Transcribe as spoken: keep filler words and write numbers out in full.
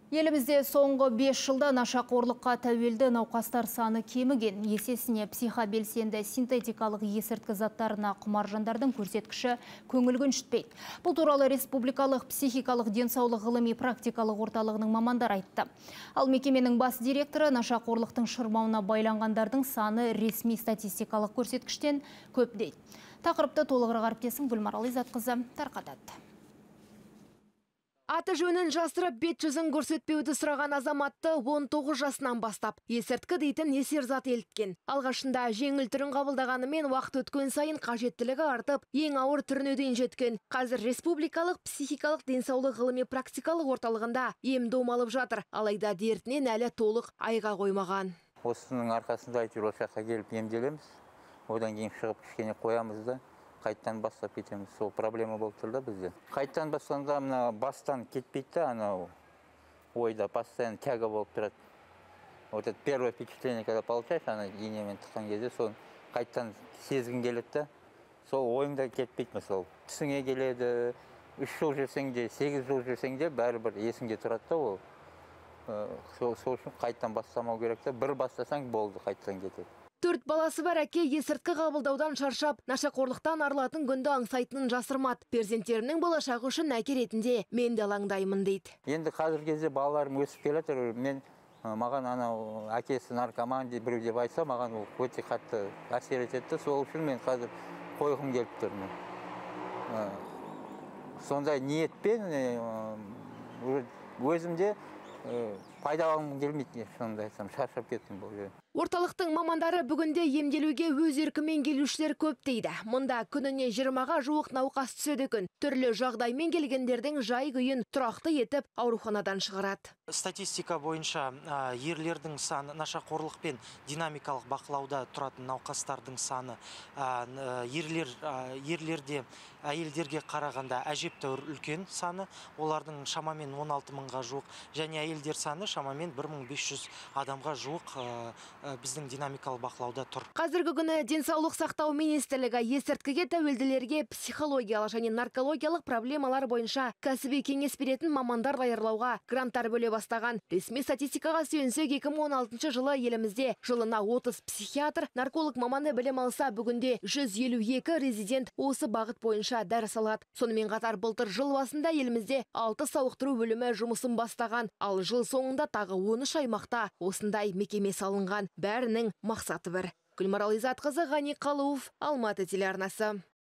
Елімізде соңғы бес жылда нашақорлыққа тәуелді науқастар саны кеміген. Есесіне психобелсенді синтетикалық есірткі заттарына құмар жандардың көрсеткіші көңіл көншітпейді. Бұл туралы Республикалық психикалық денсаулық ғылыми практикалық орталығының мамандар айтты. Ал мекеменің бас директоры нашақорлықтың шырмауына байланғандардың саны ресми статистикалық көрсеткіштен көп дейді. Тақырыпты толығырақ әріптесім Гүлмарал Изатқызы тарқатады. Аты жөнін жасырып, бет жүзін көрсетпеуді сұраған азаматты он тоғыз жасынан бастап есірткі дейтін есер зат еліткен. Алғашында жеңіл түрін қабылдағанымен уақыт өткен сайын қажеттілігі артып, ең ауыр түріне дейін жеткен. Қазір Республикалық психикалық денсаулық ғылыми практикалық орталығында ем-дом алып жатыр. Алайда дертінен әлі толық айға қоймаған. Осының арқасында әйтеуір осы жаққа келіп емделеміз. Одан кейін шығып кішкене қоямыз да қайттан бастап кетеміз. Сол проблема болып тұр да бізде. Қайттан басқанда мына бастан кетпейді, анау ойда постоянно тяга болып тұрады. Вот это первое впечатление, когда получаешь, ана инемен тыққан кезде, сол қайттан сезгің келеді да, сол ойыңда кетпейді. Мысалы, түсіңе келеді, үш жыл жүрсең де, сегіз жыл жүрсең де, бәрібір есіңде тұрады да ол. Сол үшін қайттан бастамау керек та, бір бастасаң болды, қайттан кетеді. Төрт баласы бар әке есірткі қабылдаудан шаршап, нашақорлықтан арылатын күнді аңсайтынын жасырмады. Перзенттерінің болашағы үшін әке ретінде мен де алаңдаймын дейді. Енді қазір кезде балаларым өсіп келеді. Мен маған анау әкесі наркоман деп біреу деп айтса, маған өте қатты әсер етеді. Сол үшін мен қазір қойғым келіп тұрмын. Сондай ниетпен өзімде пайдаланғым келмейді, сонда айтсам, шаршап кеттім бұл жерде. Орталықтың мамандары бүгінде емделуге өз еркімен келушілер көп дейді. Мұнда күніне жиырмаға жуық науқас түседі екен. Түрлі жағдаймен келгендердің жай күйін тұрақты етіп ауруханадан шығарады. Статистика бойынша ерлердің саны, нашақорлық пен динамикалық бақылауда тұратын науқастардың саны ерлер ерлерде әйелдерге қарағанда әжептәуір үлкен саны, олардың шамамен он алты мыңға жуық, және әйелдер саны шамамен бір мың бес жүз адамға жуық біздің динамикалық бақылауда тұр. Қазіргі күні денсаулық сақтау министрлігі есірткіге тәуелділерге психологиялық және наркологиялық проблемалар бойынша кәсіби кеңес беретін мамандар даярлауға гранттар бөле бастаған. Ресми статистикаға сүйенсек, екі мың он алтыншы жылы елімізде жылына отыз психиатр, нарколог маманы білім алса, бүгінде жүз елу екі резидент осы бағыт бойынша дәріс алады. Сонымен қатар былтыр жыл басында елімізде алты сауықтыру бөлімі жұмысын бастаған, ал жыл соңында тағы он үш аймақта осындай мекеме салынған. Бәрінің мақсаты бір. Гүлмарал Изатқызы, Ғани Қалуов, Алматы телеарнасы.